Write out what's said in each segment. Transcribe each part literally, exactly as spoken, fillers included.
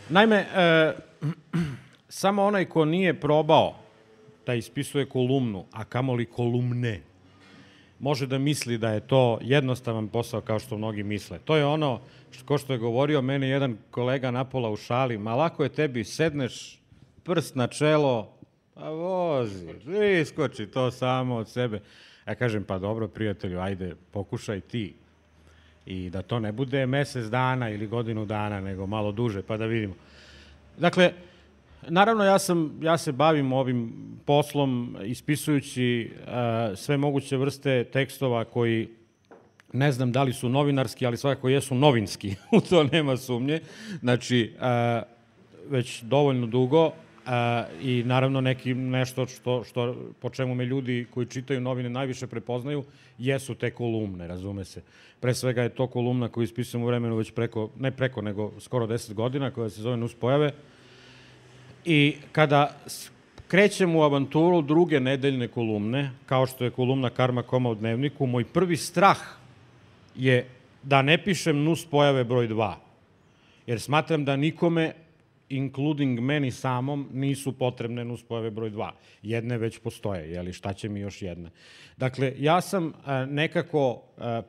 Naime, e, samo onaj ko nije probao da ispisuje kolumnu, a kamoli kolumne, može da misli da je to jednostavan posao kao što mnogi misle. To je ono, što, ko što je govorio meni jedan kolega napola u šali, ma lako je tebi, sedneš, prst na čelo, a vozi, iskoči to samo od sebe. Ja kažem, pa dobro, prijatelju, ajde, pokušaj ti. I da to ne bude mesec dana ili godinu dana, nego malo duže, pa da vidimo. Dakle, naravno, ja, sam, ja se bavim ovim poslom ispisujući uh, sve moguće vrste tekstova koji ne znam da li su novinarski, ali svakako jesu novinski, u to nema sumnje. Znači, uh, već dovoljno dugo uh, i naravno neki, nešto što, što, po čemu me ljudi koji čitaju novine najviše prepoznaju, jesu te kolumne, razume se. Pre svega je to kolumna koju ispisujem u vremenu već preko, ne preko, nego skoro deset godina, koja se zove Nuspojave. I kada krećem u avanturu druge nedeljne kolumne, kao što je kolumna Karma Koma u Dnevniku, moj prvi strah je da ne pišem nuspojave broj dva. Jer smatram da nikome, including meni samom, nisu potrebne nuspojave broj dva. Jedne već postoje, jeli, šta će mi još jedna? Dakle, ja sam nekako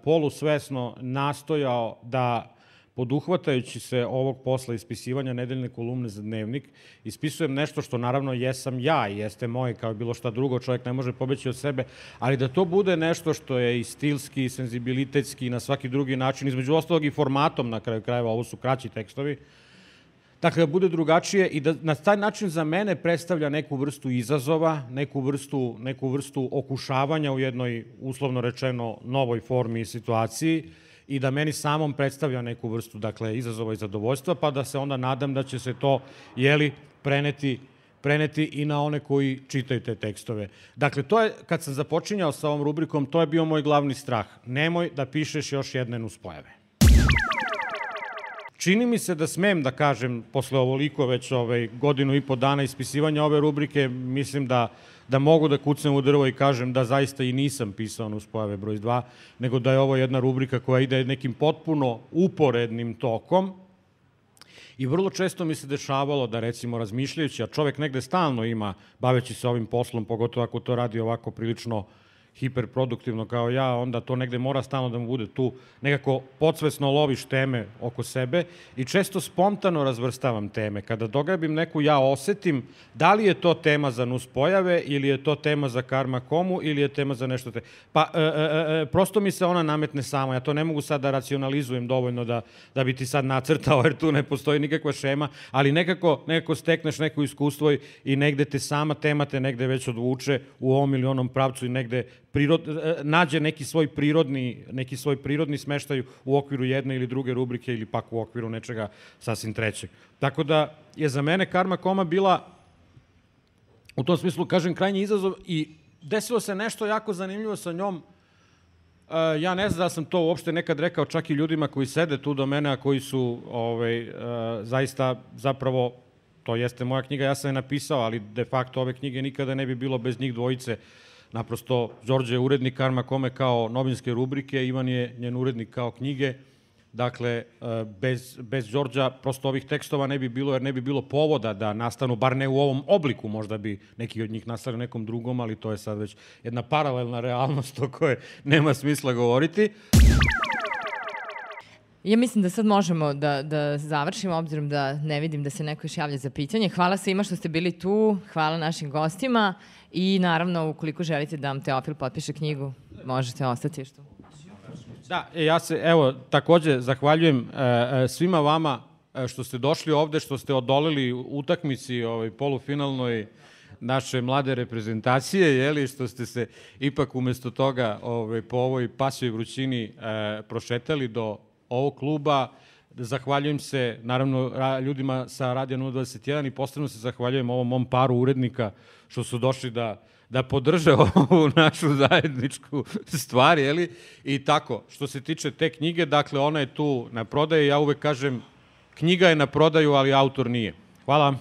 polusvesno nastojao da, poduhvatajući se ovog posla ispisivanja nedeljne kolumne za Dnevnik, ispisujem nešto što naravno jesam ja i jeste moje, kao bilo šta drugo, čovjek ne može pobeći od sebe, ali da to bude nešto što je i stilski, i senzibilitetski, i na svaki drugi način, između ostalog i formatom na kraju krajeva, ovo su kraći tekstovi, dakle, da bude drugačije i da na taj način za mene predstavlja neku vrstu izazova, neku vrstu, neku vrstu okušavanja u jednoj, uslovno rečeno, novoj formi i situaciji, i da meni samom predstavlja neku vrstu, dakle, izazova i zadovoljstva, pa da se onda nadam da će se to, jeli, preneti, preneti i na one koji čitaju te tekstove. Dakle, to je, kad sam započinjao sa ovom rubrikom, to je bio moj glavni strah. Nemoj da pišeš još jedne nuspojave. Čini mi se da smem da kažem, posle ovoliko već ovaj, godinu i po dana ispisivanja ove rubrike, mislim da da mogu da kucnem u drvo i kažem da zaista i nisam pisao nuspojave broj dva, nego da je ovo jedna rubrika koja ide nekim potpuno uporednim tokom. I vrlo često mi se dešavalo da, recimo, razmišljajući, a čovek negde stalno ima, baveći se ovim poslom, pogotovo ako to radi ovako prilično hiperproduktivno kao ja, onda to negde mora stalno da mu bude tu, nekako podsvesno loviš teme oko sebe i često spontano razvrstavam teme. Kada dograbim neku, ja osetim da li je to tema za nuspojave ili je to tema za Karma Komu ili je tema za nešto te... Pa, e, e, prosto mi se ona nametne sama. Ja to ne mogu sad da racionalizujem dovoljno da, da bi ti sad nacrtao, jer tu ne postoji nikakva šema, ali nekako, nekako stekneš neko iskustvo i negde te sama tema te negde već odvuče u ovom ili onom pravcu i negde Prirod, nađe neki svoj prirodni, neki svoj prirodni smeštaj u okviru jedne ili druge rubrike ili pak u okviru nečega sasvim trećeg. Tako da je za mene Karma Koma bila, u tom smislu, kažem, krajnji izazov i desilo se nešto jako zanimljivo sa njom. Ja ne znam da sam to uopšte nekad rekao čak i ljudima koji sede tu do mene, a koji su ovaj, zaista zapravo, to jeste moja knjiga, ja sam je napisao, ali de facto ove knjige nikada ne bi bilo bez njih dvojice. Naprosto, Đorđe je urednik Karma Kome kao novinske rubrike, Ivan je njen urednik kao knjige. Dakle, bez, bez Đorđa prosto ovih tekstova ne bi bilo, jer ne bi bilo povoda da nastanu, bar ne u ovom obliku, možda bi neki od njih nastali u nekom drugom, ali to je sad već jedna paralelna realnost o kojoj nema smisla govoriti. Ja mislim da sad možemo da, da završimo, obzirom da ne vidim da se neko još javlja za pitanje. Hvala svima što ste bili tu, hvala našim gostima i naravno, ukoliko želite da vam Teofil potpiše knjigu, možete ostati što. Da, ja se, evo, takođe zahvaljujem e, svima vama što ste došli ovde, što ste odolili utakmici ovaj, polufinalnoj naše mlade reprezentacije, jeli, što ste se ipak umesto toga ovaj, po ovoj pasjoj vrućini e, prošetali do ovog kluba. Zahvaljujem se, naravno, ljudima sa Radija nula dvadeset jedan i posebno se zahvaljujem ovom mom paru urednika što su došli da, da podrže ovu našu zajedničku stvar, jeli? I tako, što se tiče te knjige, dakle, ona je tu na prodaju. Ja uvek kažem, knjiga je na prodaju, ali autor nije. Hvala.